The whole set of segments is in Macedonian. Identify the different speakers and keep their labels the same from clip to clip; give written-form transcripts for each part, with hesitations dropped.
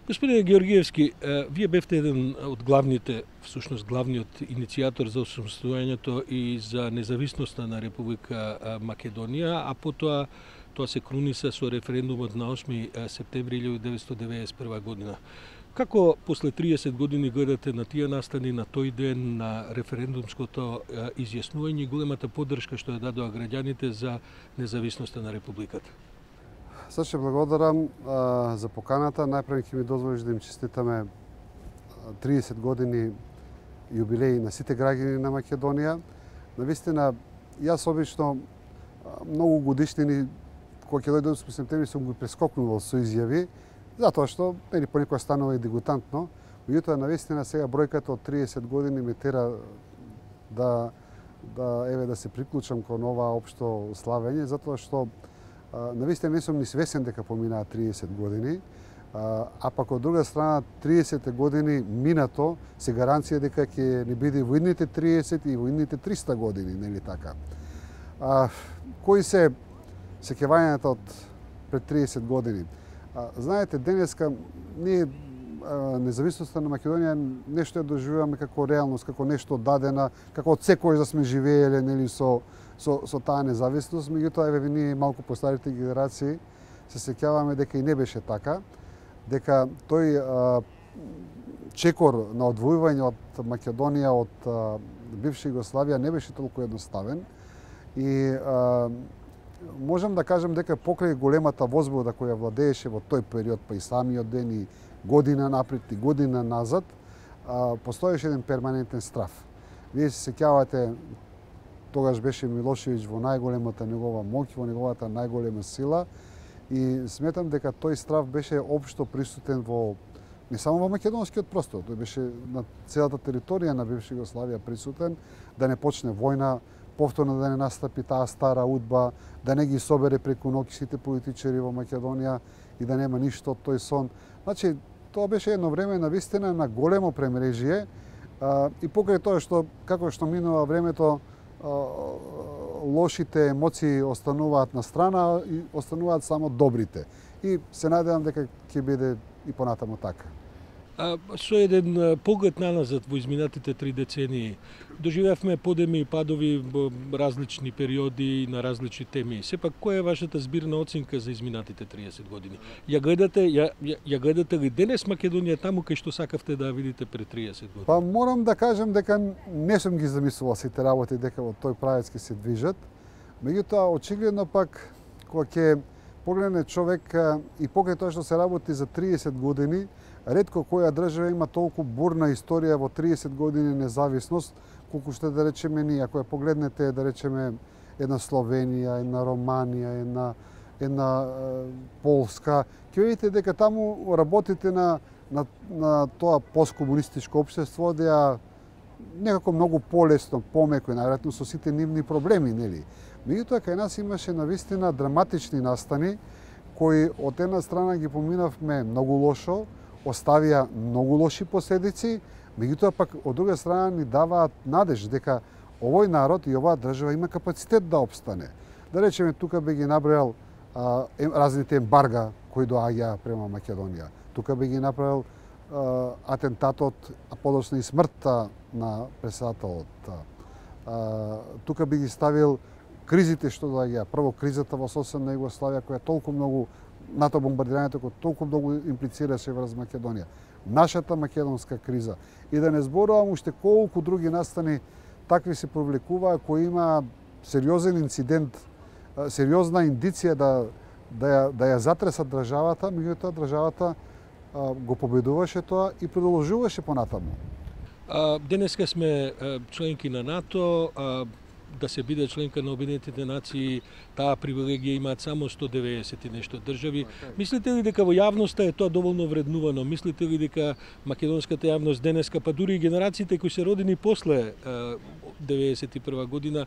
Speaker 1: Господине Георгиевски, вие бевте еден од главните, всушност главниот иницијатор за освободувањето и за независноста на Република Македонија, а потоа тоа се круниса со референдумот на 8 септември 1991 година. Како после 30 години гледате на тие настани, на тој ден, на референдумското изјаснување и големата поддршка што ја дадоа граѓаните за независноста на Републиката?
Speaker 2: Саше благодарам за поканата. Најпрво ќе ми дозволиш да им честитаме 30 години јубилеј на сите граѓани на Македонија. Навистина, јас обично многу годишнини кога ќе дојде 8 септември сум го прескокнувал со изјави, затоа што понекогаш станува и дегутантно. Меѓутоа, навистина сега бројката од 30 години ме тера да се приклучам кон ова општо славење, затоа што навистина не сум ни свесен дека поминаа 30 години, а пак од друга страна 30 години минато се гаранција дека ќе не биде во идните 30 и во идните 300 години, нели така? Кои се сеќавањата од пред 30 години? Знаете, денеска ние независноста на Македонија нешто ја доживуваме како реалност, како нешто дадена, како од секој да сме живееле, нели, со таа независност, меѓутоа еве ние малку постарите генерации се сеќаваме дека и не беше така, дека тој чекор на одвојување од Македонија од бивша Југославија не беше толку едноставен и можам да кажам дека покрај големата возбуда која владееше во тој период, па и самиот ден и година напред и година назад, постоеше еден перманентен страв. Вие се сеќавате, тогаш беше Милошевиќ во најголемата негова моќ, во неговата најголема сила и сметам дека тој страв беше општо присутен не само во македонскиот простор, тој беше на целата територија на бивша Југославија присутен, да не почне војна, повторно да не настапи таа стара удба, да не ги собере преку ноќ сите политичари во Македонија и да нема ништо од тој сон. Значи, тоа беше едно време навистина на големо премрежие и покрај тоа што, како што минува времето, лошите емоции остануваат на страна и остануваат само добрите. И се надевам дека ќе биде и понатаму така.
Speaker 1: Со еден поглед наназад во изминатите 3 децении, доживеавме подеми и падови во различни периоди на различни теми. Сепак, која е вашата збирна оценка за изминатите 30 години? Ја гледате ли денес Македонија таму кај што сакавте да ја видите пред 30 години?
Speaker 2: Па морам да кажам дека не сум ги замислувал сите работи дека во тој правец ќе се движат. Меѓутоа, очигледно пак, кога ќе погледне човек и покрај тоа што се работи за 30 години, ретко која држава има толку бурна историја во 30 години независност, колку што да речеме ние. Ако ја погледнете, да речеме, една Словенија, една Романија, една Полска, ќе видите дека таму работите на тоа посткомунистичко општество, да некако многу полесно, помеко, најверојатно со сите нивни проблеми, нели? Меѓутоа, кај нас имаше навистина драматични настани, кои од една страна ги поминавме многу лошо, оставија многу лоши последици, меѓутоа пак од друга страна ни даваат надеж дека овој народ и оваа држава има капацитет да опстане. Да речеме, тука би ги набројал разните ембарга кои доаѓаа према Македонија. Тука би ги направил атентатот, а подоцна и смртта на председателот. Тука би ги ставил кризите што доаѓаа. Прво кризата во соседна Југославија која толку многу НАТО бомбардирањето кој толку многу имплицираше врз Македонија. Нашата македонска криза. И да не зборувам уште колку други настани такви се повлекуваа кои има сериозен инцидент, сериозна индиција да ја затресат државата, меѓутоа државата го победуваше тоа и продолжуваше понатаму.
Speaker 1: Денеска сме членки на НАТО, да се биде членка на Обединетите нации, таа привилегија имаат само 190 и нешто држави. Мислите ли дека во јавноста е тоа доволно вреднувано? Мислите ли дека македонската јавност денеска, па дури и генерациите кои се родени после 91 година,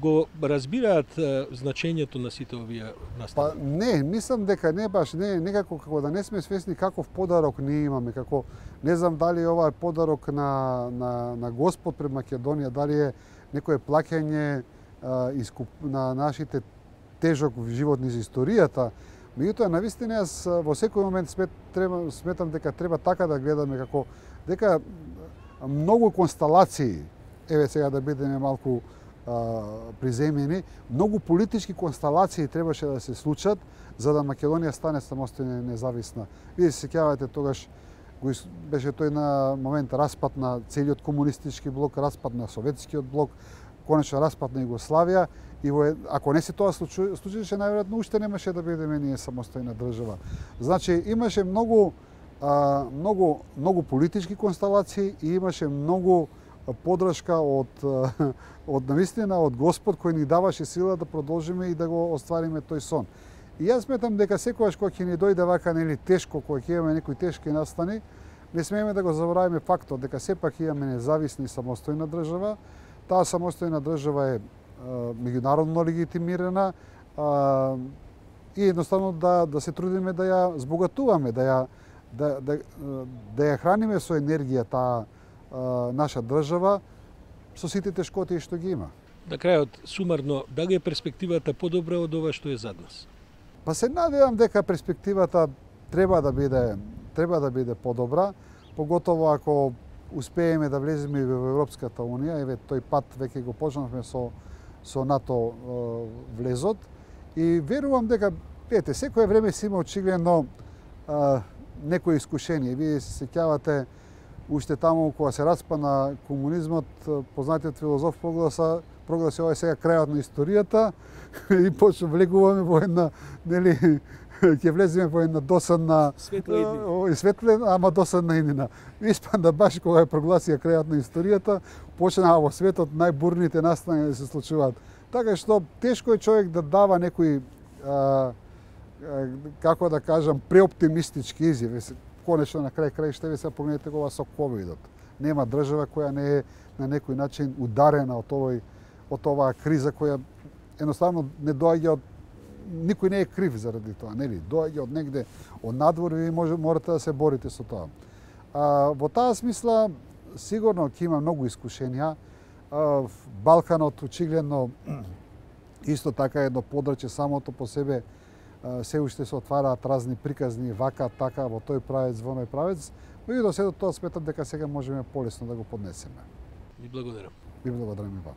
Speaker 1: го разбираат значењето на сите овие настани?
Speaker 2: Па не, мислам дека не баш, некако како да не сме свесни каков подарок ние имаме, како не знам дали ова е подарок на Господ пред Македонија, дали е некое плаќање на нашите тежок живот низ историјата, Меѓутоа, навистина, јас во секој момент сметам дека треба така да гледаме како дека многу констелации, еве сега да бидеме малку приземени, многу политички констелации требаше да се случат за да Македонија стане самостојна и независна. Вие се сеќавате тогаш беше тој на момент распад на целиот комунистички блок, распад на советскиот блок, конечно распад на Југославија и ако не се тоа случеше, најверојатно уште немаше да бидеме ние самостојна држава. Значи имаше многу политички констелации и имаше многу подршка од навистина од Господ кој ни даваше сила да продолжиме и да го оствариме тој сон. И јас сметам дека секогаш кога ќе ни дојде вака тешко, кога ќе имаме некои тешки настани, не смееме да го забораваме фактот дека сепак имаме независна и самостојна држава. Таа самостојна држава е меѓународно легитимирана и едноставно да се трудиме да ја збогатуваме, да ја храниме со енергија таа наша држава со сите тешкоти што ги има.
Speaker 1: На крајот, сумарно, дали е перспективата подобра од ова што е зад нас?
Speaker 2: Па се надевам дека перспективата треба да биде подобра, поготово ако успееме да влеземе во Европската унија, еве тој пат веќе го почнавме со НАТО влезот и верувам дека секое време си има очигледно некои искушение. Вие се сеќавате уште таму кога се распана комунизмот, познатиот филозоф прогласи ова е сега крајот на историјата и почна влегуваме во една, нели, ќе влеземе во една досадна светла, ама досадна иднина. Испада баш кога прогласија крајот на историјата, почнаа во светот најбурните настани да се случуваат. Така што тешко е човек да дава некои како да кажам преоптимистички изјави. Конечно на крај краишта се погледнете го со ковидот. Нема држава која не е на некој начин ударена од оваа криза која едноставно не доаѓа од никој не е крив заради тоа, нели? Доаѓа од негде од надвор и ви морате да се борите со тоа. Во таа смисла сигурно ќе има многу искушенија. Балканот очигледно исто така едно подрачје самото по себе се уште се отвараат разни приказни вака, така, во тој правец, во оној правец, меѓутоа се до тоа сметам дека сега можеме полесно да го поднесеме.
Speaker 1: Ви благодарам.
Speaker 2: Ви благодарам и вам.